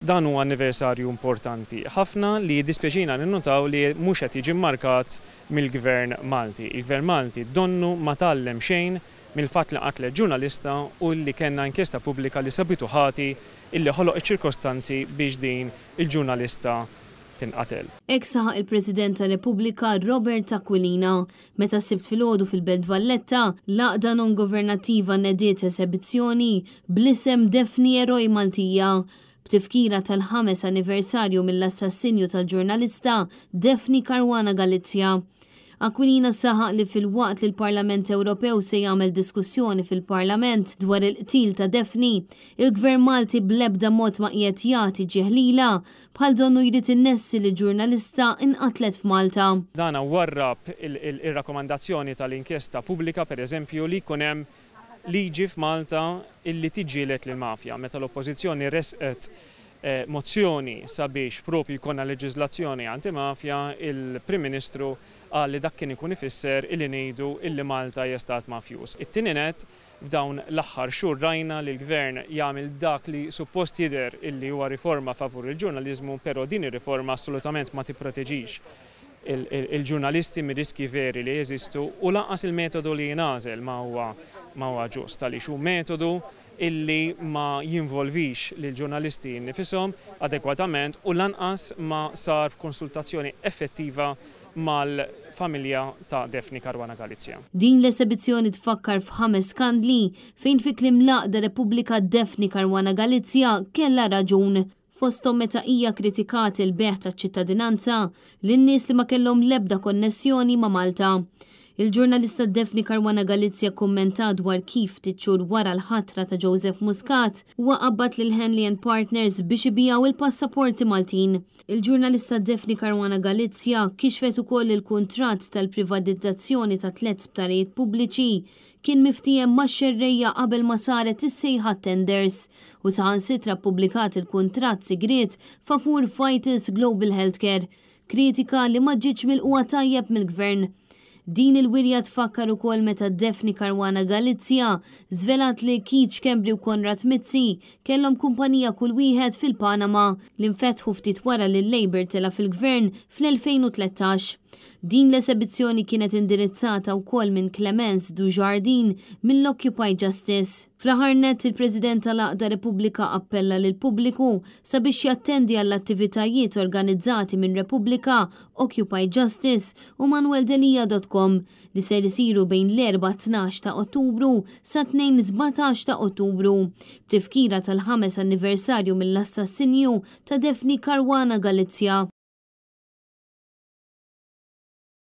Dan huwa anniversarju importanti ħafna li jiddispjaċina ninnutaw li mhux qed jiġi mmarkat mill-Gvern Malti. Il-Gvern Malti donnu ma tgħallem xejn mill-fatt li nqatlet ġurnalista u li kellna inkjesta pubblika li sabitu ħati illi ħoloq iċ-ċirkostanzi biex din il-ġurnalista tinqatel. Hekk saħaq il-President ta' Repubblika Robert Aquilina meta s-Sibt filgħodu fil-Belt Valletta, l-għaqda non-governattiva nediet esebizzjoni bl-isem Daphne Eroj Maltija, b'tifkira tal-ħames anniversarju mill-assassinju tal-ġurnalista Daphne Caruana Galizia. Aquilina saħaq li filwaqt li l-Parlament Ewropew se jagħmel diskussjoni fil-Parlament dwar il-qtil ta' Daphne, il-Gvern Malti bl-ebda mod ma qiegħed jagħti ġieħ lilha, bħal donnu jrid innessi li ġurnalista inqatlet f'Malta. Dan warrab ir-rakkomandazzjoni tal-inkjesta pubblika, pereżempju, li jkun hemm liġi f'Malta illi tiġġieled lill-mafja. Meta l-Oppożizzjoni ressqet mozzjoni sabiex propju jkollna leġiżlazzjoni antimafja, il-Prim Ministru qal li dak kien ikun ifisser illi ngħidu illi Malta hija stat mafjuż. It-tieni nett, f'dawn l-aħħar xhur rajna li l-Gvern jagħmel dak li suppost jidher illi huwa riforma favur il-ġurnaliżmu, però din ir-riforma assolutament ma tipproteġix il-ġurnalisti mir-riskji veri li jeżistu u lanqas il-metodu li jingħażel ma huwa ma huwa ġust għaliex hu metodu illi ma jinvolvix lill-ġurnalisti nnifishom adekwatament u lanqas ma sar b'konsultazzjoni effettiva mal-familja ta' Daphne Caruana Galizia. Din l-esebizzjoni tfakkar f'ħames skandli fejn fi kliem l-għaqda Repubblika Daphne Caruana Galizia kellha raġun, fosthom meta hija kkritikat il-bejgħ taċ-ċittadinanza lil nies li ma kellhom l-ebda konnessjoni ma' Malta. Il-ġurnalista Daphne Caruana Galizia kkummentat dwar kif ftit xhur wara l-ħatra ta' Joseph Muscat huwa qabbad lil Henley and Partners biex ibigħu il-passaporti Maltin. Il-ġurnalista Daphne Caruana Galizia kixfet ukoll li l-kuntratt tal-privatizzazzjoni ta' tliet sptarijiet pubbliċi kien miftiehem max-xerrejja qabel ma saret is-sejħa għat-tenders u saħansitra ppubblikat il-kuntratt sigriet favur Vitals Global Healthcare, kritika li ma ġietx milqugħa tajjeb mill-Gvern. Din il-wirja tfakkar ukoll meta Daphne Caruana Galizia żvelat li Keith Schembri u Konrad Mizzi kellhom kumpanija kull wieħed fil-Panama li nfetħu ftit wara li l-Labour tela' fil-Gvern fl-2013. Din l-esebizzjoni kienet indirizzata wkoll minn Clemence Dujardin mill-Occupy Justice. Fl-aħħar nett il-President tal-Għaqda Repubblika appella lill-pubbliku sabiex jattendi għall-attivitajiet organizzati minn Repubblika, Occupy Justice u manueldelia.com li ser isiru bejn l-Erbgħa 12 ta' Ottubru sa Tnejn 17 ta' Ottubru, b'tifkira tal-ħames anniversarju mill-assassinju ta' Daphne Caruana Galizia.